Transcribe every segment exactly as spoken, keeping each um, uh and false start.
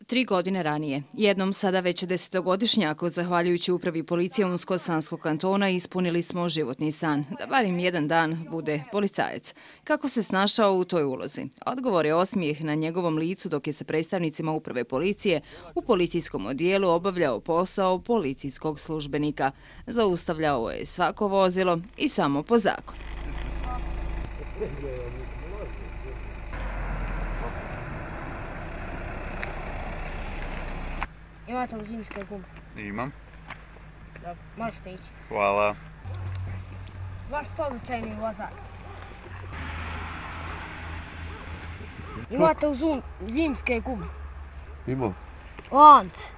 Tri godine ranije, jednom sada već desetogodišnjaku, zahvaljujući upravi policije Unsko-Sanskog kantona, ispunili smo životni san, da barim jedan dan bude policajac. Kako se snašao u toj ulozi? Odgovor je osmijeh na njegovom licu dok je sa predstavnicima uprave policije u policijskom odijelu obavljao posao policijskog službenika. Zaustavljao je svako vozilo i samo po zakonu. Imate li zimske gume? Imam. Da, možete ići. Hvala. Vaš običajni vozač. Imate li zum, zimske gume? Imam. Lance.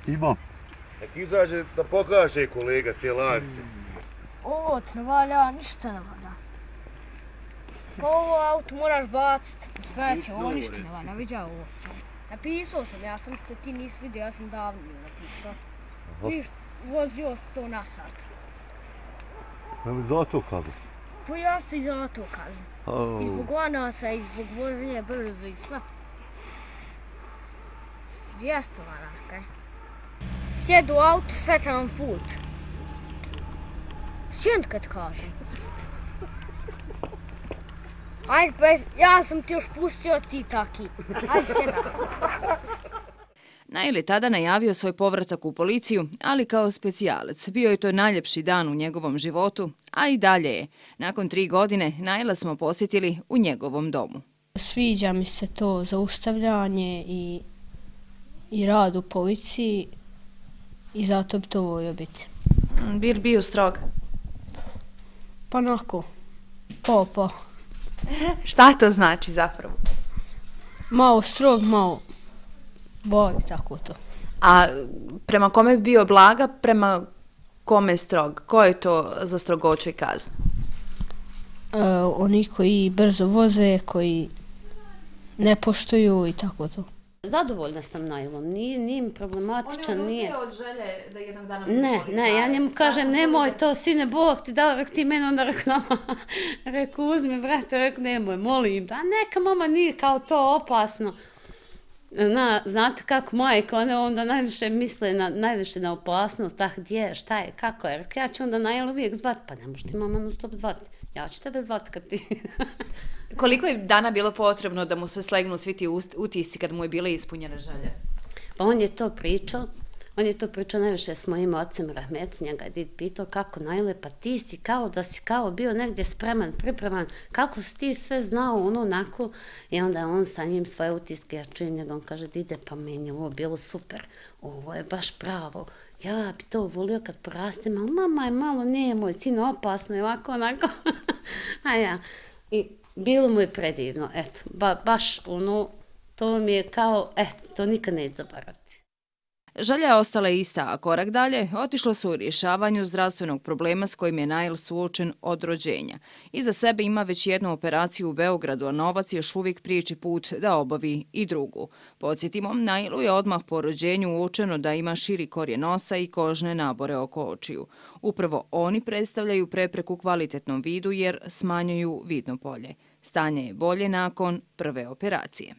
Imam. Nek izađe da pokaže kolega te lance. Ovo ti ne valja, ništa ne valja. Pa ovo auto moraš baciti. Smeće, ovo ništa ne valja, viđa ovo. Napisao sam, ja sam što ti nisi vidio, ja sam davno napisao. Ništa, vozio se to na sat. Ja mi zato kažem. Pa ja se i zato kažem. I zbog lanasa, i zbog voženja brzo i sve. Dvijesto maraka. Sjedu u auto, srećan put. Sjend kad kažem. Ajde, pa ja sam ti još pustio ti taki. Ajde, sjedaj. Nail je tada najavio svoj povratak u policiju, ali kao specijalac. Bio je to najljepši dan u njegovom životu, a i dalje je. Nakon tri godine Naila smo posjetili u njegovom domu. Sviđa mi se to zaustavljanje i, i rad u policiji i zato bi to volio biti. Bi li bio strog? Pa onako, po, po. Šta to znači zapravo? Malo strog, malo voli tako to. A prema kome bi bio blaga, prema kome strog? Ko je to za strogoću i kaznu? E, oni koji brzo voze, koji ne poštuju i tako to. Zadovoljna sam Nailom, nije, nije mi problematičan, nije. On je odustaje od želje da jednog dana... Ne, ne, ja njemu kažem, nemoj to, sine, Bog ti dao, rek ti meni, onda reku nama, reku uzmi, brate, reku nemoj, molim, da neka mama nije kao to opasno. Na, znate kako majka, one onda najviše misle na, najviše na opasnost, tak gdje, šta je, kako je, reku ja ću onda Nail uvijek zvati, pa ne možeš ti mama non stop zvati, ja ću tebe zvati kad ti... Koliko je dana bilo potrebno da mu se slegnu svi ti utisci kad mu je bile ispunjene želje? Pa on je to pričao, on je to pričao najviše s mojim ocem Rahmet, njega je did pitao kako Naile, pa ti si kao da si kao bio negdje spreman, pripreman, kako si ti sve znao, ono, onako, i onda je on sa njim svoje utiske, ja čujem njega, on kaže, dide, pa meni je ovo bilo super, ovo je baš pravo, ja bi to volio kad porastem, ali mama je malo, nije moj sin, opasno je ovako, onako, a ja, i bilo mu je predivno, eto, ba, baš ono, to mi je kao, eto, to nikad neće zaboraviti. Želja je ostala ista, a korak dalje otišlo su u rješavanju zdravstvenog problema s kojim je Nail suočen od rođenja. Iza sebe ima već jednu operaciju u Beogradu, a novac još uvijek priječi put da obavi i drugu. Podsjetimo, Nailu je odmah po rođenju uočeno da ima širi korijen nosa i kožne nabore oko očiju. Upravo oni predstavljaju prepreku kvalitetnom vidu jer smanjuju vidno polje. Stanje je bolje nakon prve operacije.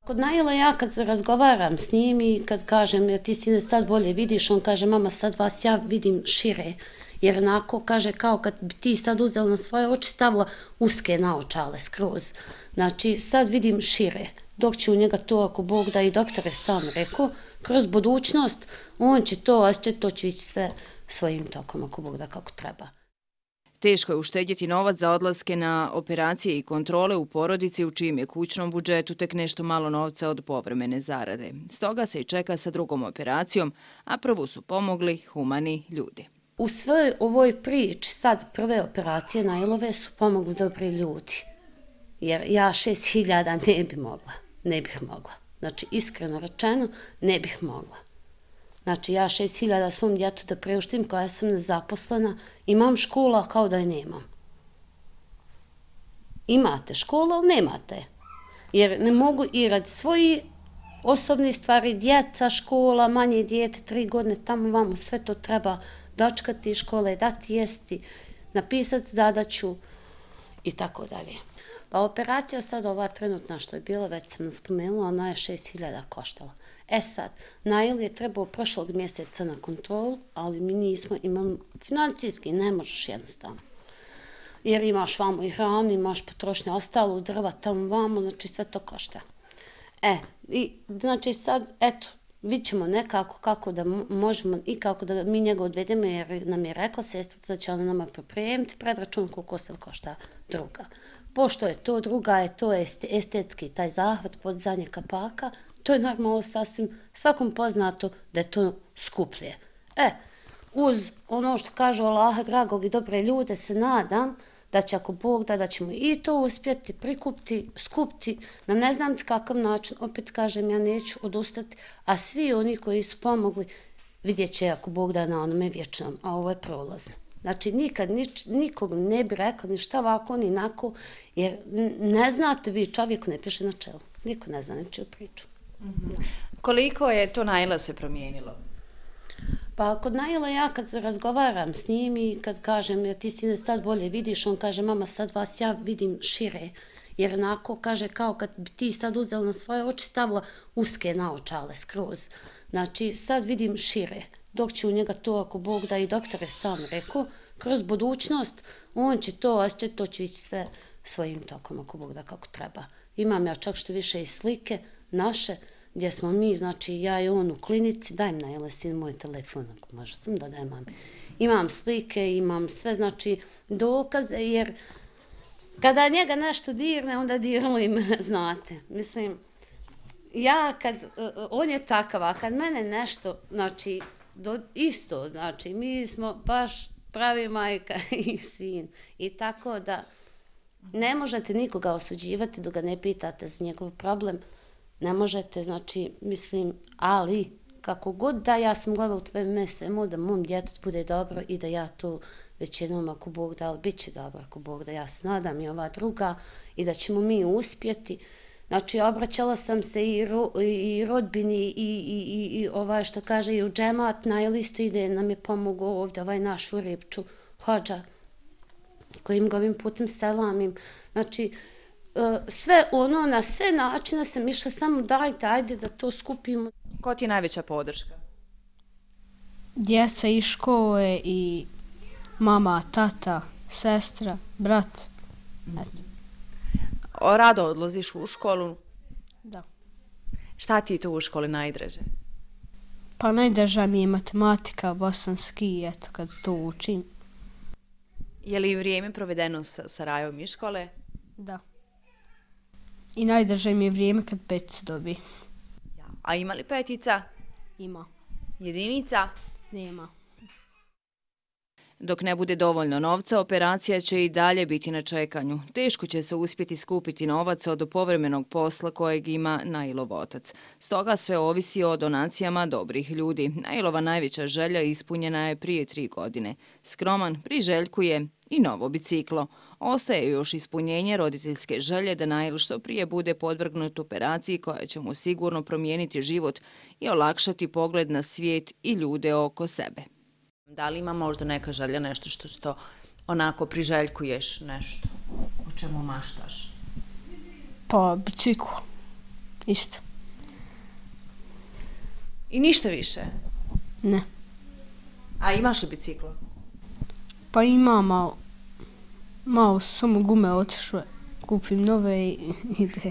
Kod Naila ja kad razgovaram s njim i kad kažem ja, ti sine sad bolje vidiš, on kaže mama sad vas ja vidim šire. Jer onako kaže kao kad bi ti sad uzela na svoje oči stavila uske naočale skroz. Znači sad vidim šire. Dok će u njega to ako Bog da i doktor je sam rekao, kroz budućnost on će to, a će to će ići sve svojim tokom ako Bog da kako treba. Teško je uštedjeti novac za odlaske na operacije i kontrole u porodici u čijem je kućnom budžetu tek nešto malo novca od povremene zarade. Stoga se i čeka sa drugom operacijom, a prvu su pomogli humani ljudi. U svoj ovoj priči sad prve operacije Nailove su pomogli dobri ljudi. Jer ja šest hiljada ne bi mogla, ne bih mogla. Znači iskreno rečeno ne bih mogla. Znači, ja šest hiljada svom djetu da priuštim koja sam nezaposlena, imam škola kao da je nemam. Imate školu, ali nemate. Jer ne mogu i radi svoji osobni stvari, djeca, škola, manje dijete, tri godine, tamo vamo, sve to treba dočekati iz škole, dati jesti, napisati zadaću i tako dalje. Pa operacija sad ova trenutna što je bila, već sam spomenula, ona je šest hiljada koštala. E sad, Nail je trebao prošlog mjeseca na kontrolu, ali mi nismo imali, financijski ne možeš jednostavno. Jer imaš vamo i hranu, imaš potrošnje ostalo, drva tamo vamo, znači sve to košta. E, i znači sad, eto, vidit ćemo nekako kako da možemo i kako da mi njega odvedemo, jer nam je rekla sestrica da će ona nama pripremiti predračun koliko se košta druga. Pošto je to druga, je to estetski, taj zahvat, podizanje kapaka, to je normalno sasvim svakom poznato da je to skuplje. E, uz ono što kažu Allaha dragog i dobre ljude se nadam da će ako Bog da, da ćemo i to uspjeti prikupiti, skupiti na ne znam kakav način, opet kažem ja neću odustati, a svi oni koji su pomogli vidjet će ako Bog da na onome vječnom, a ovo je prolazno. Znači nikad nič, nikog ne bi rekla ni šta ovako ni inako, jer ne znate vi, čovjeku ne piše na čelu, niko ne zna nečiju priču. Mm-hmm. Koliko je to Naila se promijenilo? Pa kod Naila ja kad se razgovaram s njim i kad kažem ja ti sine sad bolje vidiš, on kaže mama sad vas ja vidim šire, jer onako kaže kao kad bi ti sad uzela na svoje oči stavila uske naočale skroz, znači sad vidim šire, dok će u njega to ako Bog da i doktor je sam rekao, kroz budućnost on će to osjećati, to će ići sve svojim tokom ako Bog da kako treba. Imam ja čak što više i slike naše, gdje smo mi, znači ja i on u klinici, daj mi Naile sin moj telefon, ako možeš sam da daj mami. Imam slike, imam sve, znači dokaze, jer kada njega nešto dirne, onda dirnu i mene, znate. Mislim, ja kad, on je takav, a kad mene nešto, znači, do, isto, znači, mi smo baš pravi majka i sin. I tako da ne možete nikoga osuđivati dok ga ne pitate za njegov problem. Ne možete, znači, mislim, ali kako god da ja sam gledala u tvoje ime svemu da mom djetetu bude dobro i da ja to već jednom ako Bog da, ali bit će dobro ako Bog da, ja se nadam i ova druga i da ćemo mi uspjeti. Znači, obraćala sam se i, ro, i rodbini i, i, i, i ovaj što kaže i u džemat, na listu ide nam je pomogao ovdje ovaj naš u Ripču, hođa, kojim ga ovim putem selamim. Znači, sve ono, na sve načine sam išla samo dajte, ajde da to skupimo. Ko ti je najveća podrška? Djeca iz škole i mama, tata, sestra, brat. Eto. O, rado odlaziš u školu? Da. Šta ti je to u školi najdraže? Pa najdraža mi je matematika, bosanski, eto kad to učim. Je li vrijeme provedeno sa, sa Rajom iz škole? Da. I najdraže mi je vrijeme kad peticu dobi. Ja. A ima li petica? Ima. Jedinica? Nema. Dok ne bude dovoljno novca, operacija će i dalje biti na čekanju. Teško će se uspjeti skupiti novac od povremenog posla kojeg ima Nailov otac. Stoga sve ovisi o donacijama dobrih ljudi. Nailova najveća želja ispunjena je prije tri godine. Skroman priželjkuje i novo biciklo. Ostaje još ispunjenje roditeljske želje da Nail što prije bude podvrgnut operaciji koja će mu sigurno promijeniti život i olakšati pogled na svijet i ljude oko sebe. Da li ima možda neka želja, nešto što, što onako priželjkuješ, nešto o čemu maštaš? Pa bicikl, isto. I ništa više? Ne. A imaš li biciklo? Pa imam, malo, malo samo gume otišle, kupim nove i ide.